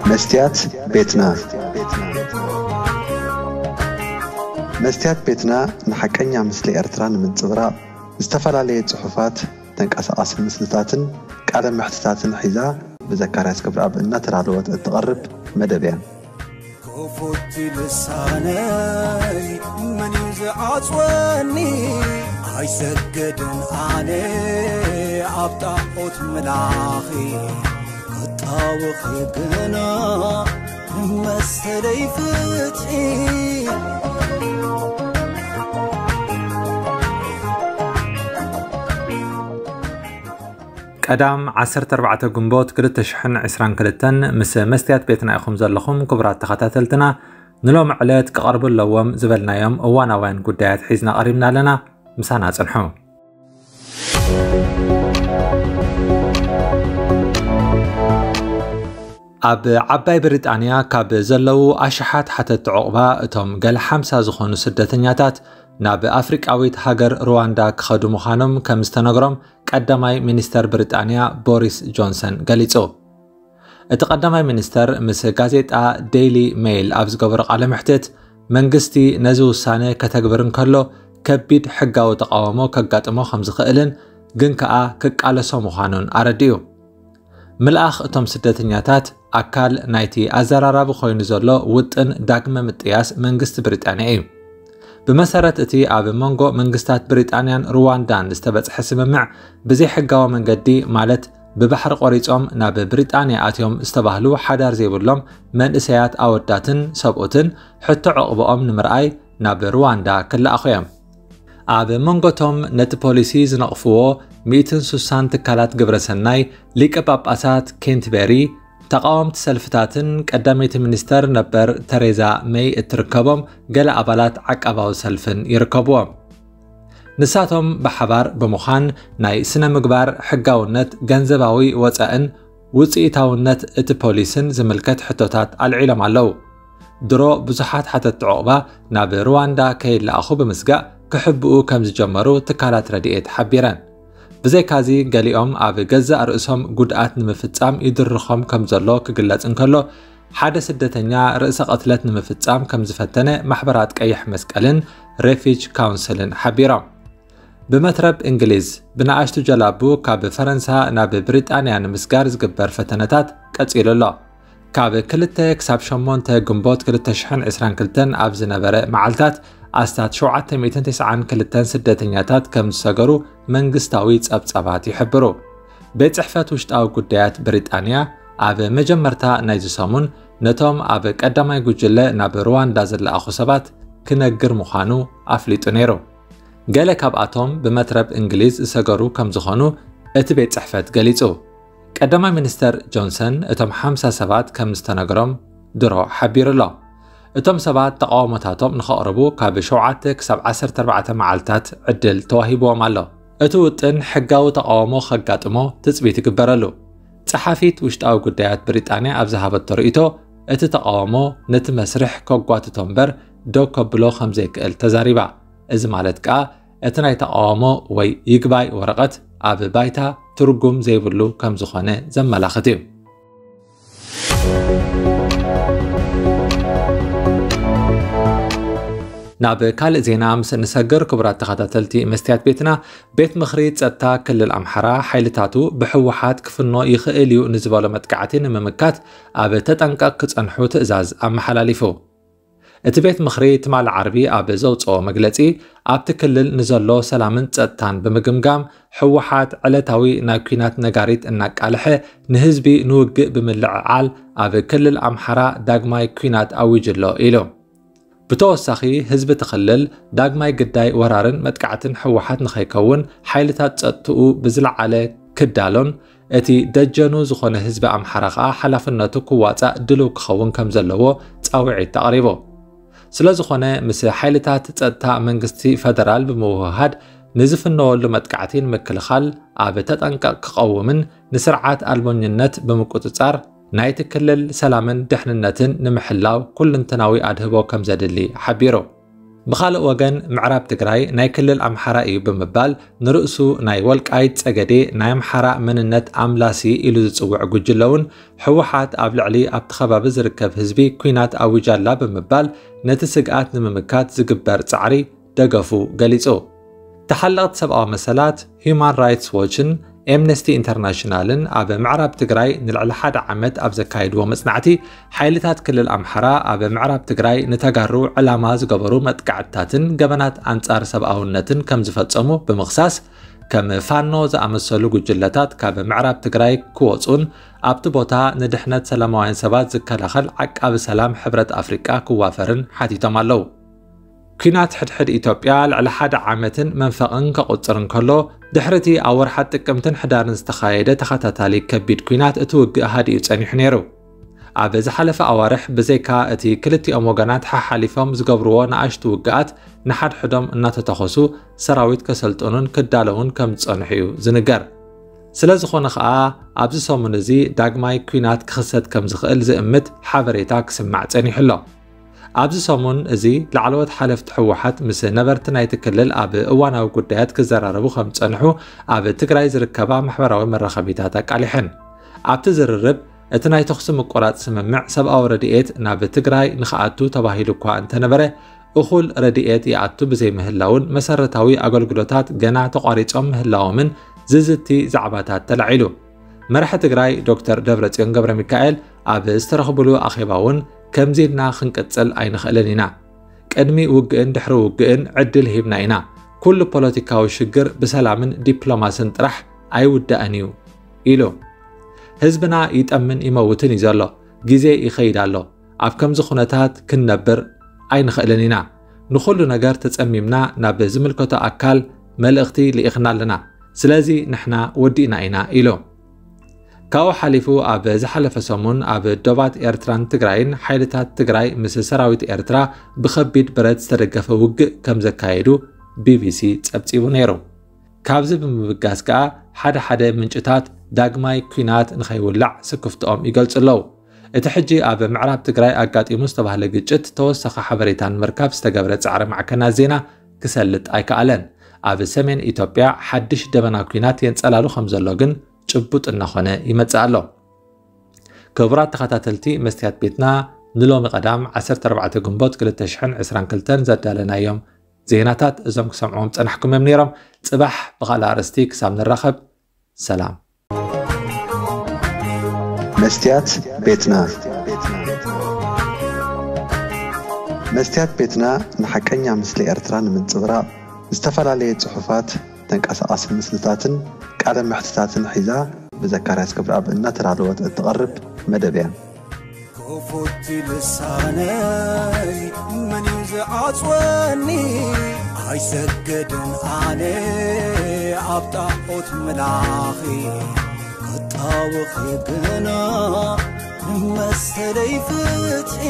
መስትያት ቤትና። መስትያት ቤትና ንሓቀኛ ምስሊ ኤርትራ ንምንጽብራቕ ዝተፈላለየ ጽሑፋት፣ ተንቀሳቓሲ ምስልታትን ቃለ መሕትታትን ሒዛ ብዘካርያስ ገብረኣብ እናተዳለወት እትቐርብ መደብ እያ። ክፉት ልሳነይ መን እዩ ዝዓጽወኒ? ኣይሰግድን ኣነ ኣብ ጣዖት ምላኺ፣ ክጣወኺ ግና መሰለይ ፍትሒ። ቀዳም ዓሰርተ ኣርባዕተ ግንቦት ክልተ ሽሕን ዕስራን ክልተን ምስ መስትያት ቤትና ኢኹም ዘለኹም። ክቡራት ተኸታተልትና፣ ንሎሚ ዕለት ክቐርቡ ኣለዎም ዝበልናዮም እዋናውያን ጉዳያት ሒዝና ቀሪብና ኣለና። ምሳና ጽንሑ። ኣብ ዓባይ ብሪጣንያ ካብ ዘለዉ ኣሽሓት ሓተቲ ዑቕባ፣ እቶም ገለ ሓምሳ ዝኾኑ ስደተኛታት ናብ ኣፍሪቃዊት ሃገር ሩዋንዳ ክኸዱ ምዃኖም ከም ዝተነግሮም ቀዳማይ ሚኒስተር ብሪጣንያ ቦሪስ ጆንሰን ገሊጹ። እቲ ቀዳማይ ሚኒስተር ምስ ጋዜጣ ዴይሊ ሜይል ኣብ ዝገበሮ ቃለ መሕትት፣ መንግስቲ ነዚ ውሳነ ከተግብር እንከሎ ከቢድ ሕጋዊ ተቓውሞ ከጋጥሞ ከም ዝኽእልን ግን ከኣ ክቃለሶ ምዃኑን ኣረዲኡ። ምልኣኽ እቶም ስደተኛታት ኣካል ናይቲ ኣዘራራቢ ኮይኑ ዘሎ ውጥን ዳግመ ምጥያስ መንግስቲ ብሪጣንያ እዩ። ብመሰረት እቲ ኣብ መንጎ መንግስታት ብሪጣንያን ሩዋንዳን ዝተበጽሐ ስምምዕ፣ ብዘይሕጋዊ መንገዲ፣ ማለት ብባሕሪ ቆሪጾም ናብ ብሪጣንያ ኣትዮም ዝተባህሉ ሓዳር ዘይብሎም መንእሰያት ኣወዳትን ሰብኡትን፣ ሕቶ ዕቕብኦም ንምርኣይ ናብ ሩዋንዳ ክለኣኹ እዮም። ኣብ መንጎቶም ነቲ ፖሊሲ ዝነቕፍዎ ሚእትን ስሳን ትካላት ግብረሰናይ፣ ሊቀ ጳጳሳት ኬንትበሪ፣ ተቓወምቲ ሰልፍታትን ቀዳመይቲ ሚኒስተር ነበር ተሬዛ መይ እትርከቦም ገለ ኣባላት ዓቃባዊ ሰልፍን ይርከብዎም። ንሳቶም ብሓባር ብምዃን ናይ ስነ ምግባር ሕጋውነት፣ ገንዘባዊ ወጻእን ውጽኢታውነት እቲ ፖሊስን ዝምልከት ሕቶታት ኣልዒሎም ኣለዉ። ድሮ ብዙሓት ሓተቲ ዑቕባ ናብ ሩዋንዳ ከይለኣኹ ብምስጋእ ክሕብኡ ከም ዝጀመሩ ትካላት ረድኤት ሓቢረን። ብዘይካዚ፣ ገሊኦም ኣብ ገዛእ ርእሶም ጉድኣት ንምፍጻም ይድርኾም ከም ዘሎ ክግለጽ እንከሎ፣ ሓደ ስደተኛ ርእሰ ቅትለት ንምፍጻም ከም ዝፈተነ ማሕበራት ቀይሕ መስቀልን ሬፊጅ ካውንስልን ሓቢሮም። ብመትረብ እንግሊዝ፣ ብንኣሽቱ ጀላቡ ካብ ፈረንሳ ናብ ብሪጣንያ ንምስጋር ዝግበር ፈተነታት ቀጺሉ ኣሎ። ካብ ክልተ ክሳብ ሸሞንተ ግንቦት ክልተ ሽሕን ዕስራን ክልተን ኣብ ዝነበረ መዓልታት፣ ኣስታት ሸውዓተ ሚእትን ተስዓን ክልተን ስደተኛታት ከም ዝሰገሩ መንግስታዊ ጸብጻባት ይሕብሩ። ቤት ጽሕፈት ውሽጣዊ ጉዳያት ብሪጣንያ፣ ኣብ መጀመርታ ናይዚ ሰሙን ነቶም ኣብ ቀዳማይ ጉጅለ ናብ ሩዋንዳ ዝለኣኹ ሰባት ክነግር ምዃኑ ኣፍሊጡ ነይሩ። ገለ ካብኣቶም ብመትረብ እንግሊዝ ዝሰገሩ ከም ዝኾኑ እቲ ቤት ጽሕፈት ገሊጹ። ቀዳማይ ሚኒስተር ጆንሰን፣ እቶም ሓምሳ ሰባት ከም ዝተነግሮም ድሮ ሓቢሩ ኣሎ። እቶም ሰባት ተቓውሞታቶም ንኸቕርቡ ካብ ሸውዓተ ክሳብ ዓሰርተ ኣርባዕተ መዓልታት ዕድል ተዋሂብዎም ኣሎ። እቲ ውጥን ሕጋዊ ተቓውሞ ከጋጥሞ ትጽቢት ይግበረሉ። ጸሓፊት ውሽጣዊ ጉዳያት ብሪጣንያ ኣብ ዝሃበቶ ርእይቶ፣ እቲ ተቓውሞ ነቲ መስርሕ ከጓትቶ እምበር ደው ከብሎ ከም ዘይክእል ተዛሪባ። እዚ ማለት ከኣ፣ እቲ ናይ ተቓውሞ ወይ ይግባይ ወረቐት ኣብ ባይታ ትርጉም ዘይብሉ ከም ዝኾነ ዘመላኽት እዩ። ናብ ካልእ ዜና ምስ እንሰግር፣ ክቡራት ተኸታተልቲ መስትያት ቤትና፣ ቤት ምኽሪ ጸጥታ ክልል ኣምሓራ፣ ሓይልታቱ ብህወሓት ክፍኖ ይኽእል እዩ ንዝበሎ መጥቃዕቲ ንምምካት ኣብ ተጠንቀቕ ክጸንሑ ትእዛዝ ኣመሓላሊፉ። እቲ ቤት ምኽሪ ትማሊ ዓርቢ ኣብ ዘውጽኦ መግለጺ፣ ኣብቲ ክልል ንዘሎ ሰላምን ጸጥታን ብምግምጋም፣ ህወሓት ዕለታዊ ናይ ኲናት ነጋሪት እናቃልሐ፣ ንህዝቢ ንውግእ ብምልዕዓል፣ ኣብ ክልል ኣምሓራ ዳግማይ ኲናት ኣዊጁ ኣሎ ኢሉ። ብተወሳኺ፣ ህዝቢ እቲ ክልል ዳግማይ ግዳይ ወራርን መጥቃዕትን ህወሓት ንኸይከውን፣ ሓይልታት ጸጥትኡ ብዝለዓለ ክዳሎን፣ እቲ ደጀኑ ዝኾነ ህዝቢ ኣምሓራ ከኣ ሓላፍነቱ ክዋጻእ ድሉው ክኸውን ከም ዘለዎ ጻውዒት ኣቕሪቡ። ስለ ዝኾነ፣ ምስ ሓይልታት ጸጥታ መንግስቲ ፈደራል ብምውህሃድ፣ ንዝፍነወሉ መጥቃዕቲ ንምክልኻል ኣብ ተጠንቀቕ ክቐውምን፣ ንስርዓት ኣልቦኝነት ብምቁጽጻር፣ ናይቲ ክልል ሰላምን ድሕንነትን ንምሕላው ኩልንተናዊ ኣድህቦ ከም ዘድሊ ሓቢሩ። ብኻልእ ወገን፣ ምዕራብ ትግራይ ናይ ክልል ኣምሓራ እዩ ብምባል ንርእሱ ናይ ወልቃይት ጸገዴ ናይ ኣምሓራ መንነት ኣምላሲ ኢሉ ዝጽውዕ ጉጅለ እውን፣ ህወሓት ኣብ ልዕሊ ኣብቲ ከባቢ ዝርከብ ህዝቢ ኲናት ኣዊጃላ ብምባል ነቲ ስግኣት ንምምካት ዝግበር ጻዕሪ ደገፉ ገሊጹ። ተሓለቕቲ ሰብኣዊ መሰላት፣ ሂዩማን ራይትስ ዎችን ኤምነስቲ ኢንተርናሽናልን ኣብ ምዕራብ ትግራይ ንልዕሊ ሓደ ዓመት ኣብ ዘካየድዎ መጽናዕቲ፣ ሓይልታት ክልል ኣምሓራ ኣብ ምዕራብ ትግራይ ንተጋሩ ዕላማ ዝገበሩ መጥቃዕትታትን ገበናት ኣንጻር ሰብኣውነትን ከም ዝፈጸሙ ብምኽሳስ፣ ከም ፋኖ ዝኣመሰሉ ጉጅለታት ካብ ምዕራብ ትግራይ ክወጹን ኣብቲ ቦታ ንድሕነት ሰላማውያን ሰባት ዝከላኸል ዓቃቢ ሰላም ሕብረት ኣፍሪቃ ክዋፈርን ሓቲቶም ኣለዉ። ኲናት ሕድሕድ ኢትዮጵያ ልዕሊ ሓደ ዓመትን መንፈቕን ከቑጽር እንከሎ፣ ድሕሪ እቲ ኣብ ወርሓት ጥቅምትን ሕዳርን ዝተኻየደ ተኸታታሊ ከቢድ ኲናት፣ እቲ ውግእ ሃዲኡ ጸኒሑ ነይሩ። ኣብ ዝሓለፈ ኣዋርሕ፣ ብዘይካ እቲ ክልቲኦም ወገናት ሓሓሊፎም ዝገብርዎ ንኣሽቱ ውግኣት፣ ንሓድሕዶም እናተተኾሱ ሰራዊት ከሰልጥኑን ክዳለዉን ከም ዝጸንሑ እዩ ዝንገር። ስለ ዝኾነ ኸኣ፣ ኣብዚ ሰሙን እዚ ዳግማይ ኲናት ክኽሰት ከም ዝኽእል ዝእምት ሓበሬታ ክስማዕ ጸኒሑ ኣሎ። ኣብዚ ሰሙን እዚ፣ ላዕለዎት ሓለፍቲ ህወሓት ምስ ነበርቲ ናይቲ ክልል ኣብ እዋናዊ ጉዳያት ክዘራረቡ ከም ዝጸንሑ ኣብ ትግራይ ዝርከባ ማሕበራዊ መራኸቢታት ኣቃሊሐን። ኣብቲ ዝርርብ፣ እቲ ናይ ተኹሲ ምቁራጽ ስምምዕ ሰብኣዊ ረድኤት ናብ ትግራይ ንኽኣቱ ተባሂሉ እኳ እንተነበረ፣ እኹል ረድኤት ይኣቱ ብዘይምህላውን መሰረታዊ ኣገልግሎታት ገና ተቋሪጾም ምህላዎምን ዝዝቲ ዛዕባታት ተላዒሉ። መራሒ ትግራይ ዶክተር ደብረጽዮን ገብረ ሚካኤል ኣብ ዝተረኽብሉ ኣኼባ እውን፣ ከምዚ ኢልና ክንቅጽል ኣይንኽእልን ኢና። ቅድሚ ውግእን ድሕሪ ውግእን ዕድል ሂብና ኢና። ኩሉ ፖለቲካዊ ሽግር ብሰላምን ዲፕሎማስን ጥራሕ ኣይውዳእን እዩ ኢሉ። ህዝብና ይጠምን ይመውትን እዩ ዘሎ። ግዜ ይኸይድ ኣሎ። ኣብ ከምዚ ኩነታት ክንነብር ኣይንኽእልን ኢና። ንኹሉ ነገር ተጸሚምና ናብ ዝምልከቶ ኣካል መልእኽቲ ልኢኽና ኣለና። ስለዚ ንሕና ወዲእና ኢና ኢሉ። ካብኡ ሓሊፉ ኣብ ዝሓለፈ ሰሙን ኣብ ዶባት ኤርትራን ትግራይን ሓይልታት ትግራይ ምስ ሰራዊት ኤርትራ ብኸቢድ ብረት ዝተደገፈ ውግእ ከም ዘካየዱ ቢቢሲ ጸብጺቡ ነይሩ። ካብዚ ብምብጋስ ከኣ ሓደ ሓደ ምንጭታት ዳግማይ ኲናት ንኸይውላዕ ስክፍትኦም ይገልጹ ኣለዉ። እቲ ሕጂ ኣብ ምዕራብ ትግራይ ኣጋጢሙ ዝተባህለ ግጭት ተወሳኺ ሓበሬታ ንምርካብ ዝተገብረ ጻዕሪ ማዕከናት ዜና ክሰልጥ ኣይከኣለን። ኣብ ሰሜን ኢትዮጵያ ሓድሽ ደበና ኲናት የንጸላሉ ከም ዘሎ ግን ጭቡጥ እናኾነ ይመጽእ ኣሎ። ክቡራት ተኸታተልቲ መስትያት ቤትና፣ ንሎሚ ቀዳም ዓሰርተ ኣርባዕተ ግንቦት ክልተ ሽሕን ዕስራን ክልተን ዘዳለናዮም ዜናታት እዞም ክሰምዕዎም ጸናሕኩም እዮም ነይሮም። ጽባሕ ብኻልእ ኣርእስቲ ክሳብ ንራኸብ፣ ሰላም። መስትያት ቤትና። መስትያት ቤትና ንሓቀኛ ምስሊ ኤርትራ ንምንጽብራቕ፣ ዝተፈላለየ ጽሑፋት፣ ተንቀሳቓሲ ምስልታትን ቃለ መሕትታትን ሒዛ ብዘካርያስ ገብረኣብ እናተዳለወት እትቐርብ መደብ እያ። ክፉት ልሳነይ መን እዩ ዝዓጽወኒ? ኣይሰግድን ኣነ ኣብ ጣዖት ምላኺ፣ ክጣወኺ ግና ንመሰለይ ፍትሒ።